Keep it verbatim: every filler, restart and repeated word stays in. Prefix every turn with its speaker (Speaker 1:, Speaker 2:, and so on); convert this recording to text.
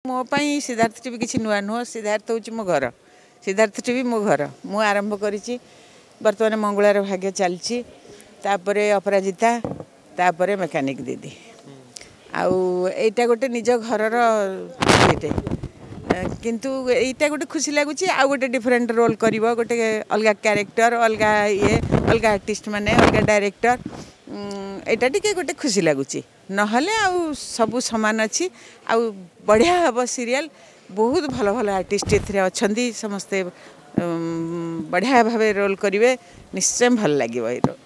Speaker 1: ମୋ ପାଇଁ ସିଦ୍ଧାର୍ଥ ଟିଭି କିଛି ନୂଆ ନୁହଁ। ସିଦ୍ଧାର୍ଥ ହେଉଛି ମୋ ଘର, ସିଦ୍ଧାର୍ଥ ଟିଭି ମୋ ଘର। ମୁଁ ଆରମ୍ଭ କରିଛି, ବର୍ତ୍ତମାନ ମଙ୍ଗୁଳାର ଭାଗ୍ୟ ଚାଲିଛି, ତାପରେ ଅପରାଜିତା, ତାପରେ ମେକାନିକ୍ ଦିଦି, ଆଉ ଏଇଟା ଗୋଟେ ନିଜ ଘରର ଇଏଟେ। କିନ୍ତୁ ଏଇଟା ଗୋଟେ ଖୁସି ଲାଗୁଛି, ଆଉ ଗୋଟେ ଡିଫରେଣ୍ଟ ରୋଲ୍ କରିବ, ଗୋଟେ ଅଲଗା କ୍ୟାରେକ୍ଟର, ଅଲଗା ଇଏ, ଅଲଗା ଆର୍ଟିଷ୍ଟ ମାନେ, ଅଲଗା ଡାଇରେକ୍ଟର, ଏଇଟା ଟିକେ ଗୋଟେ ଖୁସି ଲାଗୁଛି। ନହେଲେ ଆଉ ସବୁ ସମାନ ଅଛି। ଆଉ ବଢ଼ିଆ ହେବ ସିରିଏଲ୍, ବହୁତ ଭଲ ଭଲ ଆର୍ଟିଷ୍ଟ ଏଥିରେ ଅଛନ୍ତି, ସମସ୍ତେ ବଢ଼ିଆ ଭାବେ ରୋଲ୍ କରିବେ, ନିଶ୍ଚୟ ଭଲ ଲାଗିବ ଏଇ ରୋଲ୍।